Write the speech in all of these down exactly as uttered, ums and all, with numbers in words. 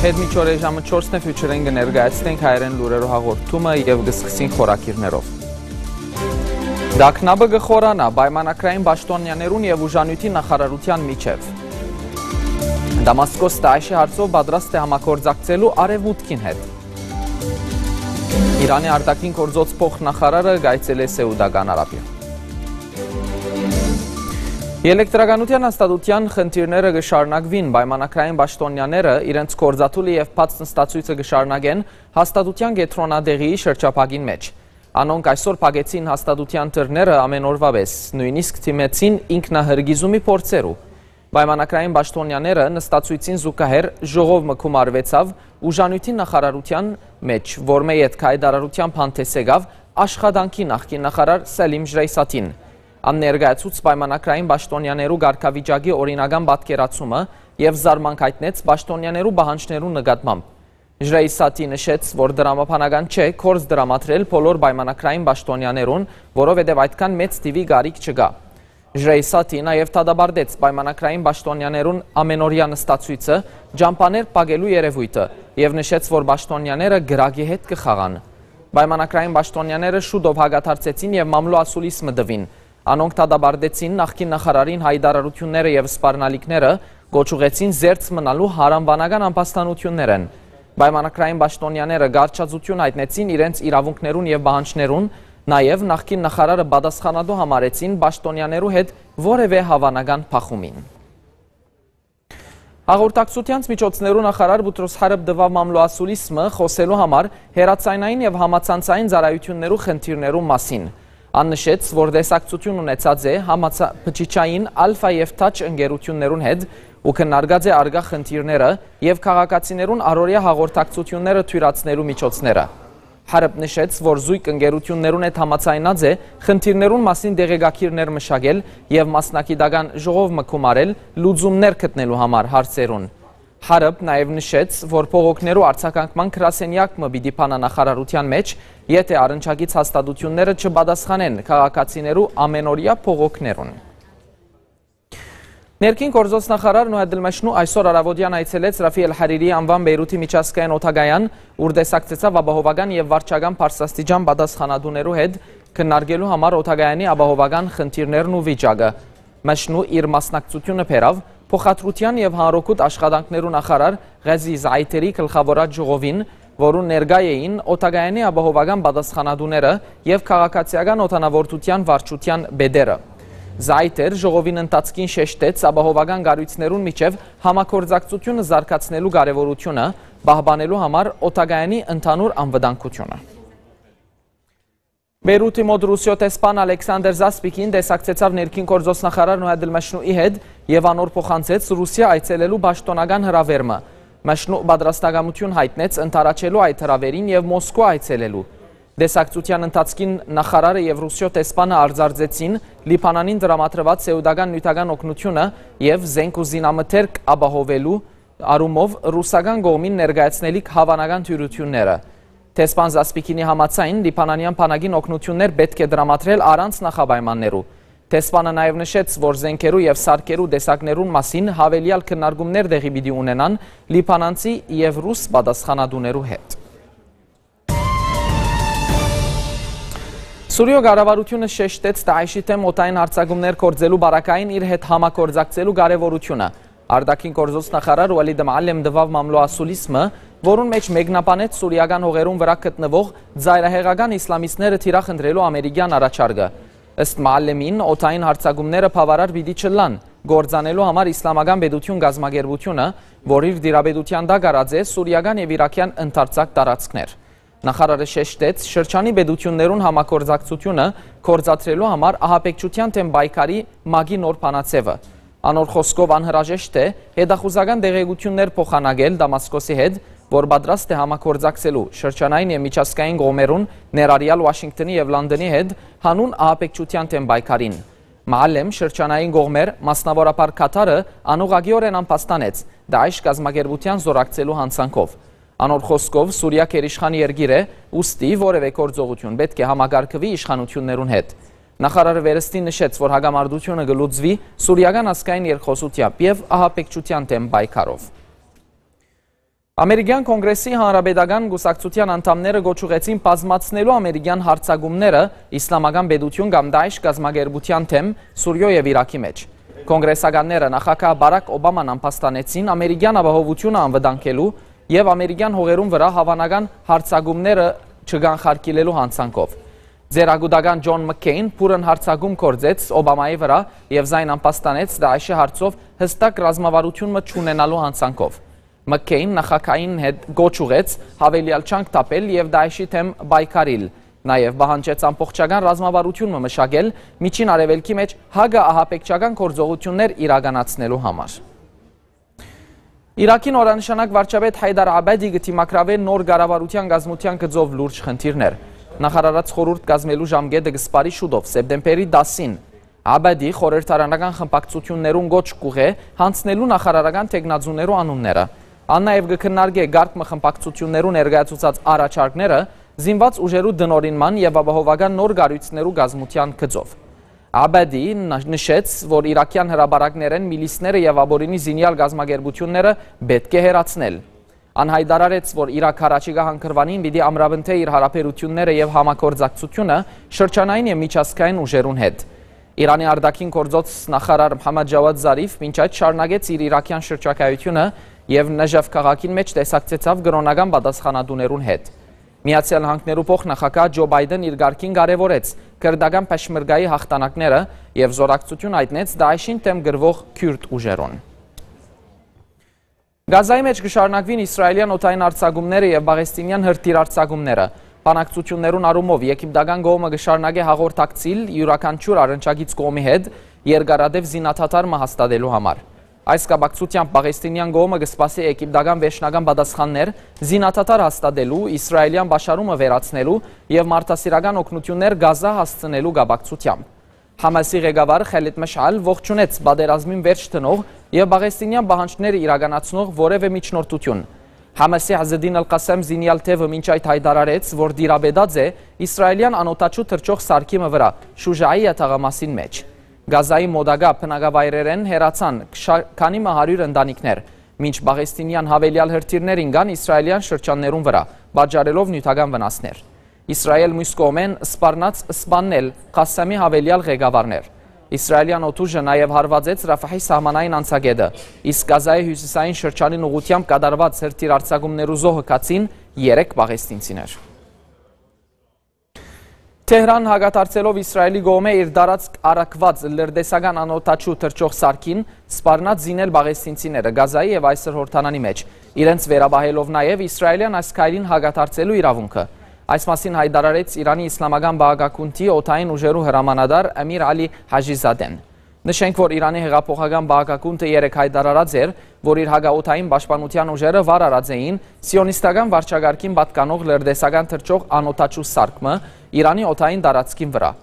Հետ մինչ օրը ժամը չորսն է, Future-ին կը ներկայացնենք հայերեն լուրերու հաղորդումը եւ կը սկսենք խորագիրներով։ Տագնապը կը խորանայ պայմանագրային պաշտոնյաներուն եւ ուժանիւթի նախարարութեան միջեւ։ Դամասկոս Դաեշի հարցով պատրաստ է համագործակցելու Արեւմուտքին հետ։ Իրանի արտաքին գործոց փոխնախարարը կայցելէ Սեուտական Արաբիա։ Ելեկտրականութեան հաստատութեան խնդիրները կը շարունակուին, պայմանագրային պաշտոնյաները իրենց գործադուլը եւ բաց նստացոյցը կը շարունակեն հաստատութեան կեդրոնատեղիի շրջափակին մէջ։ Անոնք այսօր փակեցին հաստատութեան դռները ամեն օրուա պէս, նոյնիսկ դիմեցին ինքնահրկիզումի փորձերու։ Պայմանագրային պաշտոնյաները նստացոյցին զուգահեռ ժողով մը գումարուեցաւ ուժանիւթի նախարարութեան մէջ, որմէ ետք հայտարարութեան հանդէս եկաւ աշխատանքի նախկին նախարար Սելիմ Ժրեյսաթին։ Ան ներկայացուց պայմանագրային պաշտոնյաներու կարգավիճակի օրինական պատկերացումը եւ զարմանք յայտնեց պաշտոնյաներու պահանջներու նկատմամբ։ Ժրեյսաթի նշեց, որ դրամաբանական չէ գործ դրամատրել բոլոր պայմանագրային պաշտոնյաներուն, որովհետեւ այդքան մեծ թիւի կարիք չկայ։ Ժրեյսաթի նաեւ դատապարտեց պայմանագրային պաշտոնյաներուն ամենօրեայ նստացոյցը, ճամբաներ փակելու երեւոյթը եւ նշեց, որ պաշտոնյաները կրակի հետ կը խաղան։ Պայմանագրային պաշտոնյաները շուտով հակադարձեցին եւ մամլոյ ասուլիս մը տուին։ Անոնք դատապարտեցին նախկին նախարարին հայտարարութիւնները եւ սպառնալիքները, կոչ ուղղեցին զերծ մնալու յարանուանական ամբաստանութիւններէն։ Պայմանագրային պաշտոնյաները կառչածութիւն յայտնեցին իրենց իրաւունքներուն եւ պահանջներուն, նաեւ նախկին նախարարը պատասխանատու համարեցին պաշտոնյաներու հետ որեւէ յաւանական բախումին։ Հաղորդակցութեանց միջոցներու նախարար Բուտրոս Հարըպ տուաւ մամլոյ ասուլիս մը՝ խօսելու համար հեռաձայնային եւ համացանցային ծառայութիւններու խնդիրներու մասին։ Ան նշեց, որ տեսակցութիւն ունեցած է համացա-, բջջային Ալֆա եւ Թաչ ընկերութիւններուն հետ ու քննարկած է առկայ խնդիրները եւ քաղաքացիներուն առօրեայ հաղորդակցութիւնները թոյլատնելու միջոցները։ Հարըպ նշեց, որ զոյգ ընկերութիւններուն հետ համաձայնած է խնդիրներուն մասին տեղեկագիրներ մշակել եւ մասնագիտական ժողով մը գումարել լուծումներ գտնելու համար հարցերուն։ Հարըպ նաեւ նշեց, որ բողոքներու արձագանքման գրասենեակ մը պիտի բանայ նախարարութեան մէջ, եթէ առնչակից հաստատութիւնները չպատասխանեն քաղաքացիներու ամենօրեայ բողոքներուն։ Ներքին գործոց նախարար Նուհեդլ Մեշնու այսօր առաւօտեան այցելեց Ռաֆի Ալ Հարիրիի անուան Բեյրութի միջազգային օդակայան, ուր տեսակցեցաւ ապահովական եւ վարչական բարձրաստիճան պատասխանատուներու հետ քննարկելու համար օդակայանի ապահովական խնդիրներն ու վիճակը։ Մեշնու իր մասնակցութիւնը բերաւ փոխադրութեան եւ հանրօգուտ աշխատանքներու նախարար Ղազի Զայթերի գլխաւորած ժողովին, որուն ներկայ էին օդակայանի ապահովական պատասխանատուները եւ քաղաքացիական օդանաւորդութեան վարչութեան պետերը։ Զայթեր ժողովին ընթացքին շեշտեց ապահովական կառոյցներուն միջեւ համագործակցութիւնը զարգացնելու կարեւորութիւնը, պահպանելու համար օդակայանի ընդհանուր անվտանգութիւնը։ Բեյրութի մօտ Ռուսիոյ դեսպան Ալեքսանդր Զասպիկին տեսակցեցաւ ներքին գործոց նախարար Նուհեդլ Մեշնուի հետ եւ անոր փոխանցեց Ռուսիա այցելելու պաշտօնական հրաւեր մը։ Մեշնու պատրաստակամութիւն յայտնեց ընդառաջելու այդ հրաւերին եւ Մոսկվա այցելելու։ Տեսակցութեան ընթացքին նախարարը եւ Ռուսիոյ դեսպանը արձանագրեցին Լիբանանին տրամադրուած սեուտական նիւթական օգնութիւնը եւ զէնք ու զինամթերք ապահովելու առումով ռուսական կողմին ներկայացնելիք հաւանական դիւրութիւնները։ Դեսպան Զասպիկինի համաձայն, լիբանանեան բանակին օգնութիւններ պէտք է տրամադրել առանց նախապայմաններու։ Դեսպանը նաեւ նշեց, որ զէնքերու եւ սարքերու տեսակներուն մասին յաւելեալ քննարկումներ տեղի պիտի ունենան լիբանանցի եւ ռուս պատասխանատուներու հետ։ Սուրիոյ կառավարութիւնը շեշտեց Դաեշի դէմ օդային յարձակումներ գործելու պարագային իր հետ համագործակցելու կարեւորութիւնը։ Արտաքին գործոց նախարար Ուալիդ Մալեմ տուաւ մամլոյ ասուլիս մը, որուն մէջ մեկնաբանեց սուրիական հողերուն վրայ գտնուող ծայրահեղական իսլամիստները թիրախ ընտրելու ամերիկեան առաջարկը։ Ըստ Մալեմին, օդային յարձակումները բաւարար պիտի չըլլան, կործանելու համար Իսլամական պետութիւն կազմակերպութիւնը, որ իր տիրապետութեան տակ առած է սուրիական եւ իրաքեան ընդարձակ տարածքներ։ Նախարարը շեշտեց, շրջանի պետութիւններուն համագործակցութիւնը գործադրելու համար ահաբեկչութեան դէմ պայքարի մագի նոր բանաձեւը։ Անոր խօսքով անհրաժեշտ է հետախուզական տեղեկութիւններ փոխանակել Դամասկոսի հետ, որ պատրաստ է համագործակցելու շրջանային եւ միջազգային կողմերուն, ներառյալ Ուաշինկտոնի եւ Լոնդոնի հետ, հանուն ահաբեկչութեան դէմ պայքարին։ Մալեմ շրջանային կողմեր, մասնաւորաբար Քաթարը, անուղղակիօրէն ամբաստանեց Դաեշ կազմակերպութեան զօրակցելու յանցանքով։ Անոր խօսքով, Սուրիա գերիշխան երկիր է, ուստի որեւէ գործողութիւն պէտք է համակարգուի իշխանութիւններուն հետ։ Նախարարը վերստին նշեց, որ հակամարտութիւնը կը լուծուի սուրիական ազգային երկխօսութեամբ եւ ահաբեկչութեան դէմ պայքարով։ Ամերիկյան Կոնկրեսի Հանրապետական Կուսակցութեան անդամները կոչ ուղղեցին բազմացնելու ամերիկյան յարձակումները Իսլամական Պետութիւն կամ Դաիշ կազմակերպութեան դէմ Սուրիոյ եւ Իրաքի մէջ։ Կոնկրեսականները նախագահ Բարաք Օբաման ամբաստանեցին ամերիկյան ապահովութիւնը անվտանգելու եւ ամերիկյան հողերուն վրայ հաւանական յարձակումները չկանխարգելելու յանցանքով։ Ձեռագուտական Ջոն Մքքեյն բուռն յարձակում գործեց Օբամայի վրայ եւ զայն ամբաստանեց Դաիշի հարցով յստակ ռազմավարութիւն մը չունենալու յանցանքով։ Մքքեյն նախագահին հետ կոչ ուղղեց յաւելեալ ջանք թափել եւ Դաիշի դէմ պայքարիլ։ Նաեւ պահանջեց ամբողջական ռազմավարութիւն մը մշակել Միջին Արեւելքի մէջ յակը ահաբեկչական գործողութիւններ իրականացնելու համար։ Իրաքի նորանշանակ վարչապետ Հայդար Աբադի կը դիմագրաւէ նոր կառավարութեան կազմութեան գծով լուրջ խնդիրներ։ Նախարարաց խորհուրդ կազմելու ժամկետը կը սպառի շուտով, սեպտեմբերի տասին։ Աբադի խորհրդարանական խմբակցութիւններուն կոչ կ'ուղղէ յանձնելու նախարարական թեկնածուներու անունները։ Ան նաեւ կը քննարկէ կարգ մը խմբակցութիւններու ներկայացուցած առաջարկները զինուած ուժերու տնօրինման եւ ապահովական նոր կառոյցներու կազմութեան գծով։ Աբադի ն-, նշեց, որ իրաքեան հրապարակներէն միլիսները եւ ապօրինի զինեալ կազմակերպութիւնները պէտք է հեռացնել։ Ան յայտարարեց, որ Իրաք յառաջիկայ հանգրուանին պիտի ամրապնդէ իր յարաբերութիւնները եւ համագործակցութիւնը շրջանային եւ միջազգային ուժերուն հետ։ Իրանի արտաքին գործոց նախարար Մհամմադ Ջաուադ Զարիֆ մինչ այդ շարունակեց իր իրաքեան շրջագայութիւնը եւ Նժաֆ քաղաքին մէջ տեսակցեցաւ կրօնական պատասխանատուներուն հետ։ Միացեալ Նահանգներու փոխնախագահ Ջո Պայդեն իր կարգին կարեւորեց քրտական Փեշմերգայի յաղթանակները եւ զօրակցութիւն յայտնեց Դաիշին դէմ կռուող քիւրտ ուժերուն։ Գազայի մէջ կը շարունակուին իսրայելեան օդային արձակումները եւ պաղեստինեան հրթիռ արձակումները։ Բանակցութիւններուն առումով եգիպտական կողմը կը շարունակէ հաղորդակցիլ իւրաքանչիւր առնչակից կողմի հետ երկարատեւ զինադադար մը հաստատելու համար։ Այս կապակցութեամբ պաղեստինեան կողմը կը սպասէ եգիպտական վերջնական պատասխաններ զինադադար հաստատելու, իսրայելեան պաշարումը վերացնելու եւ մարդասիրական օգնութիւններ Գազա հասցնելու կապակցութեամբ։ Համասի ղեկավար Խալիդ Մշալ ողջունեց պատերազմին վերջ դնող եւ պաղեստինեան պահանջները իրականացնող որեւէ միջնորդութիւն։ Համասի Ազեդին Ալ Ղասեմ զինեալ թեւը մինչ այդ յայտարարեց, որ տիրապետած է իսրայելեան անօդաչու թռչող սարքի մը վրայ Շուժայի յատաղամասին մէջ։ Գազայի մօտակայ բնակավայրերէն հեռացան շա-, քանի մը հարիւր ընտանիքներ, մինչ պաղեստինեան յաւելեալ հրթիռներ ինկան իսրայելեան շրջաններուն վրայ, պատճառելով նիւթական վնասներ։ Իսրայէլ միւս կողմէն սպառնաց սպաննել Ղասեմի յաւելեալ ղեկավարներ։ Իսրայելեան օդուժը նաեւ հարուածեց Ռաֆահի սահմանային անցակէտը, իսկ Գազայի հիւսիսային շրջանին ուղղութեամբ կատարուած հրթիռ արձակումներու զոհ գացին երեք պաղեստինցիներ։ Թեհրան հակադարձելով Իսրայելի կողմէ իր տարածք առաքուած լրտեսական անօդաչու թռչող սարքին, սպառնաց զինել պաղեստինցիները Գազայի եւ Այսր Հորդանանի մէջ, իրենց վերապահելով նաեւ իսրայելեան այս քայլին հակադարձելու իրաւունքը։ Այս մասին յայտարարեց Իրանի Իսլամական Պահակագունդի օդային ուժերու հրամանատար Ամիր Ալի Հաժիզադեն։ Նշենք, որ Իրանի հեղափոխական պահակագունդը երեկ յայտարարած էր, որ իր հակաօդային պաշտպանութեան ուժերը վար առած էին սիոնիստական վարչակարգին պատկանող լրտեսական թռչող անօդաչու սարք մը Իրանի օդային տարածքին վրայ։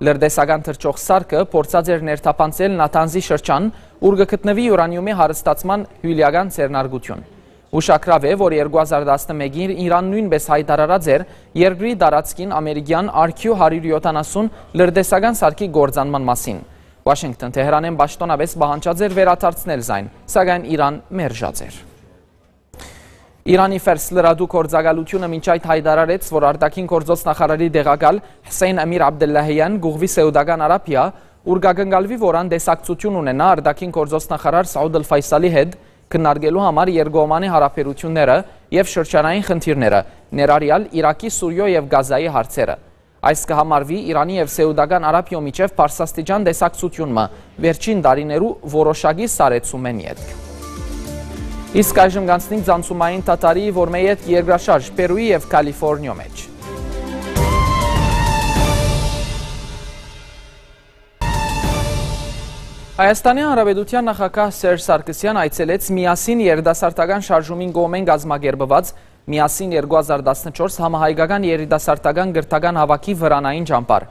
Լրտեսական թռչող սարքը փորձած էր ներթափանցել Նաթանզի շրջան, ուր կը գտնուի յուրանիումի հարստացման հիւլեական ձեռնարկութիւն։ Ուշագրաւ է, որ երկու հազար տասնմէկին Իրան նոյնպէս յայտարարած էր երկրի տարածքին ամերիկեան R Q հարիւր յոթանասուն լրտեսական սարքի կործանման մասին։ Վաշինգտոն Թեհրանէն պաշտօնապէս պահանջած էր վերադարձնել զայն, սակայն Իրան մերժած էր։ Իրանի Ֆերս լրատու գործակալութիւնը մինչ այդ յայտարարեց, որ արտաքին գործոց նախարարի տեղակալ Հսեյն Ամիր Աբդելլահեան կ'ուղղուի Սեուտական Արաբիա, ուր կակնկալուի, որ ան տեսակցութիւն ունենայ արտաքին գործոց նախարար Սաուդ Ալ Ֆայսալի հետ, քննարկելու համար երկկողմանի հարաբերութիւնները եւ շրջանային խնդիրները, ներառեալ Իրաքի, Սուրիոյ եւ Գազայի հարցերը։ Այս կը համարուի Իրանի եւ Սեուտական Արաբիոյ միջեւ բարձրաստիճան տեսակցութիւն մը, վերջին տարիներու որոշակի սառեցումէն ետք։ Իսկ այժմ կանցնենք ցանցումային թաթարի, որ մէ ետք երկրաշարժ Պերուի եւ Կալիֆորնիոյ մէջ։ Հայաստանի Հանրապետութեան նախագահ Սերժ Սարգսեան այցելեց Միասին երիտասարդական շարժումին կողմէն կազմակերպուած Միասին երկու հազար տասնչորս համահայկական երիտասարդական կրթական հաւաքի վրանային ճամբար։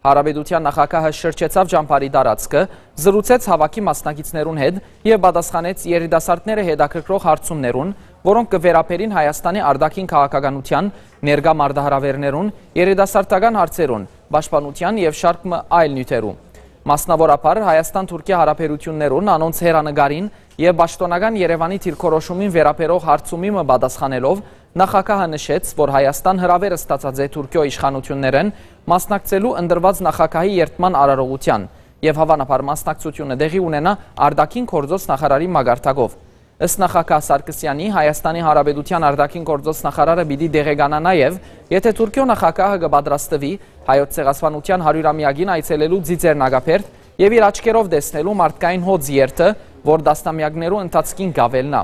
Հանրապետութեան նախագահը շրջեցաւ ճամբարի տարածքը, զրուցեց հաւաքի մասնակիցներուն հետ եւ պատասխանեց երիտասարդները հետաքրքրող հարցումներուն, որոնք կը վերաբերին Հայաստանի արտաքին քաղաքականութեան, ներկայ մարտահրաւէրներուն, երիտասարդական հարցերուն, պաշտպանութեան եւ շարք մը այլ նիւթերու։ Մասնաւորաբար Հայաստան-Թուրքիա հարաբերութիւններուն, անոնց հեռանկարին Եւ պաշտօնական Երեւանի դիրքորոշումին վերաբերող հարցումի մը պատասխանելով, նախագահը նշեց, որ Հայաստան հրաւեր ստացած է Թուրքիոյ իշխանութիւններէն մասնակցելու ընտրուած նախագահի երդման արարողութեան եւ հաւանաբար մասնակցությունը տեղի ունենայ արտաքին գործոց նախարարի մակարդակով։ Ըստ նախագահ Սարգսեանի, Հայաստանի Հանրապետութեան արտաքին գործոց նախարարը պիտի տեղեկանայ նաեւ, եթէ Թուրքիոյ նախագահը կը պատրաստուի Հայոց ցեղասպանութեան հարիւրամեակին այցելելու Ծիծեռնակաբերդ եւ իր աչքերով տեսնելու մարդկային հոծ երթը, որ տասնամեակներու ընթացքին կ'աւելնայ։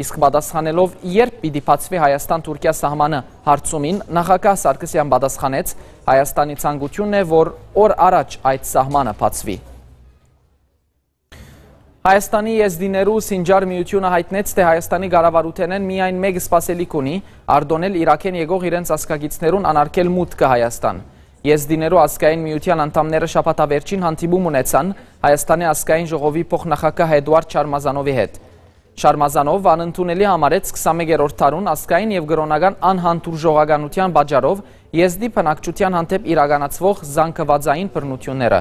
Իսկ պատասխանելով, երբ պիտի բացուի Հայաստան-Թուրքիա սահմանը հարցումին, նախագահ Սարգսեան պատասխանեց. «Հայաստանի ցանկութիւնն է, որ օր առաջ այդ սահմանը բացուի»։ Հայաստանի եզդիներու Սինճար միութիւնը յայտնեց, թէ Հայաստանի կառավարութենէն միայն մէկ սպասելիք ունի՝ արտոնել Իրաքէն եկող իրենց ազգակիցներուն անարգել մուտքը Հայաստան։ Եզդիներու ազգային միութեան անդամները շաբաթավերջին հանդիպում ունեցան Հայաստանի ազգային ժողովի փոխնախագահ Էդուարդ Շարմազանովի հետ։ Շարմազանով անընդունելի համարեց քսանմեկերորդ դարուն ազգային եւ կրօնական անհանդուրժողականութեան պատճառով եզդի բնակչութեան հանդէպ իրականացուող զանգվածային բռնութիւնները։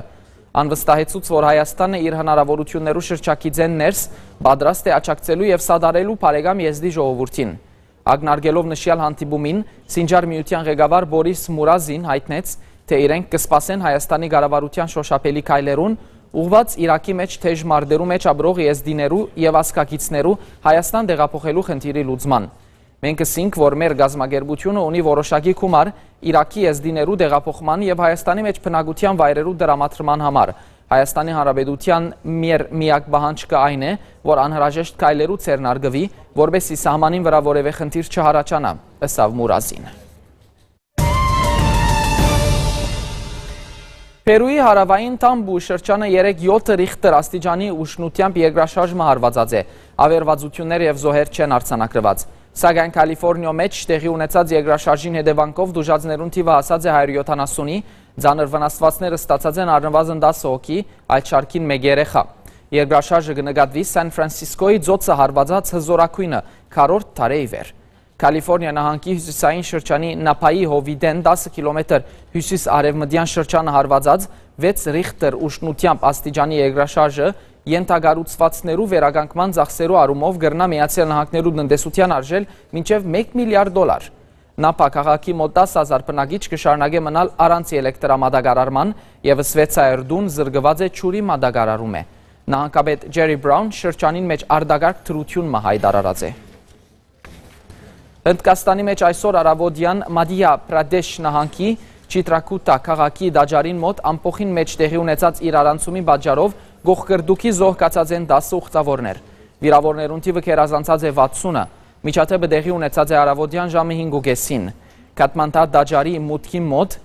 Ան վստահեցուց, որ Հայաստանը իր հնարաւորութիւններու շրջագիծէն ներս պատրաստ է աջակցելու եւ սատարելու բարեկամ եզդի ժողովուրդին։ Ակնարկելով նշեալ հանդիպումին, Սինճար միութեան ղեկավար Բորիս Մուրազին յայտնեց, թէ իրենք կը սպասեն Հայաստանի կառավարութեան շոշափելի քայլերուն, ուղղուած Իրաքի մէջ թէժ մարտերու մէջ ապրող եզդիներու եւ ազգակիցներու Հայաստան տեղափոխելու խնդիրի լուծման։ «Մենք ըսինք, որ մեր կազմակերպութիւնը ունի որոշակի գումար Իրաքի եզդիներու տեղափոխման եւ Հայաստանի մէջ բնակութեան վայրերու տրամադրման համար։ Հայաստանի Հանրապետութեան մեր միակ պահանջքը այն է, որ անհրաժեշտ քայլերու ձեռնարկուի, որպէսզի սահմանին վրայ որեւէ խնդիր չյառաջանայ», ըսաւ Մուրազին։ Պերուի հարաւային Թամպու շրջանը երեկ յոթ Ռիխտեր աստիճանի ուժգնութեամբ երկրաշարժ մը հարուածած է։ Աւերուածութիւններ եւ զոհեր չեն արձանագրուած։ Սակայն Քալիֆորնիոյ մէջ տեղի ունեցած երկրաշարժին հետեւանքով տուժածներուն թիւը հասած է հարիւր յոթանասունի, ծանր վնասուածներ ստացած են առնուազն տասը հոգի, այդ շարքին մէկ երեխայ։ Երկրաշարժը կը նկատուի Սան Ֆրանսիսկոյի ծոցը հարուածած հզօրագոյնը քառորդ դարէ ի վեր։ Քալիֆորնիա նահանգի հիւսիսային շրջանի Նապայի հովիտէն տասը կիլոմեթր հիւսիս-արեւմտեան շրջանը հարուածած վեց Ռիխտեր ուժգնութեամբ աստիճանի երկրաշարժը ենթակառուցուածներու վերականգնման ծախսերու առումով կրնայ Միացեալ Նահանգներու տնտեսութեան արժել մինչեւ մէկ միլիարդ դոլար։ Նապա քաղաքի մոտ տասը հազար բնակիչ կը շարունակէ մնալ առանց ելեկտրամատակարարման եւ վեցսայր տուն զրկուած է ջուրի մատակարարումէ։ Նահանգապետ Ջերի Բրաուն շրջանին մէջ արտակարգ դրութիւն մը յայտարարած է։ Հնդկաստանի մէջ այսօր առաւօտեան Մադիա Պրադեշ նահանգի Չիտրակուտա քաղաքի տաճարին մօտ ամբոխին մէջ տեղի ունեցած իրարանցումի պատճառով կոխկրտուքի զոհ գացած են տասը ուխտաւորներ։ Վիրաւորներուն թիւը գերազանցած է վաթսունը։ Միջադէպը տեղի ունեցած է առաւօտեան ժամը հինգ ու կէսին։ Քաթմանդա տաճարի մուտքի մօտ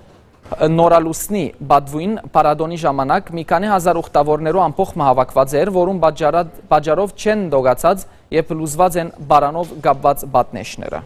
նորալուսնի պատուին պարադոնի ժամանակ մի քանի հազար ուխտաւորներու ամբոխ մը հաւաքուած էր, որուն պատճառա-, պատճառով չեն տոկացած եւ փլուզուած են պարանով կապուած պատնեշները։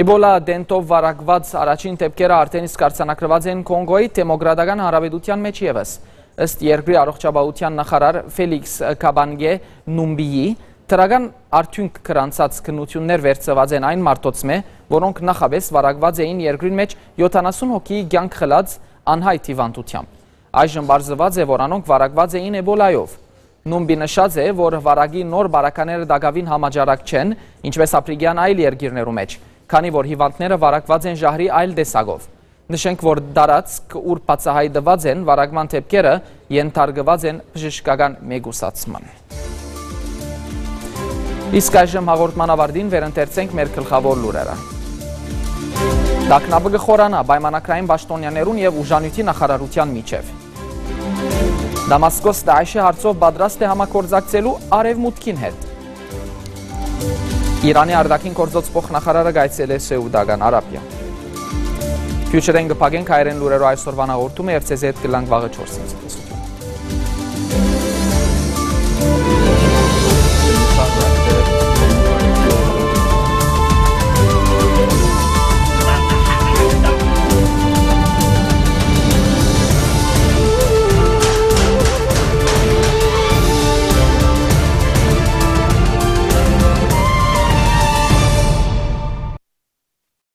Իբոլա դենտով վարակուած առաջին դէպքերը արդէն իսկ արձանագրուած են Կոնգոյի Դեմոկրատական Հանրապետութեան մէջ եւս։ Ըստ երկրի առողջապահութեան նախարար Ֆելիքս Քաբանգե Նումբիի, դրական արդիւնք գրանցած քննութիւններ վերցուած են այն մարդոցմէ, որոնք նախապէս վարակուած էին երկրին մէջ յոթանասուն հոգիի կեանք խլած անյայտ հիւանդութեամբ։ Այժմ պարզուած է, որ անոնք վարակուած էին Էբոլայով։ Նումբի նշած է, որ վարակի նոր բարակաները տակաւին համաճարակ չեն, ինչպէս Ափրիկեան այլ երկիրներու մէջ, քանի որ հիւանդները վարակուած են ժահրի այլ տեսակով։ Նշենք, որ տարածք, ուր բացայայտուած են վարակման դէպքերը, ենթարկուած են բժշկական մեկուսացման։ Իսկ այժմ հաղորդման աւարտին վերընթերցենք մեր գլխաւոր լուրերը։ Տագնապը կը խորանայ պայմանագրային պաշտօնեաներուն եւ ուժանիւթի նախարարութեան միջեւ։ Դամասկոս Դաեշի հարցով պատրաստ է համագործակցելու Արեւմուտքին հետ։ Իրանի արտաքին գործոց փոխնախարարը կայցելէ Սեուդական Արաբիա։ Քիչ րեն կը փակենք հայերէն լուրերու այսօրվան հաղորդումը եւ ձեզի հետ կլանք վաղը չորսին։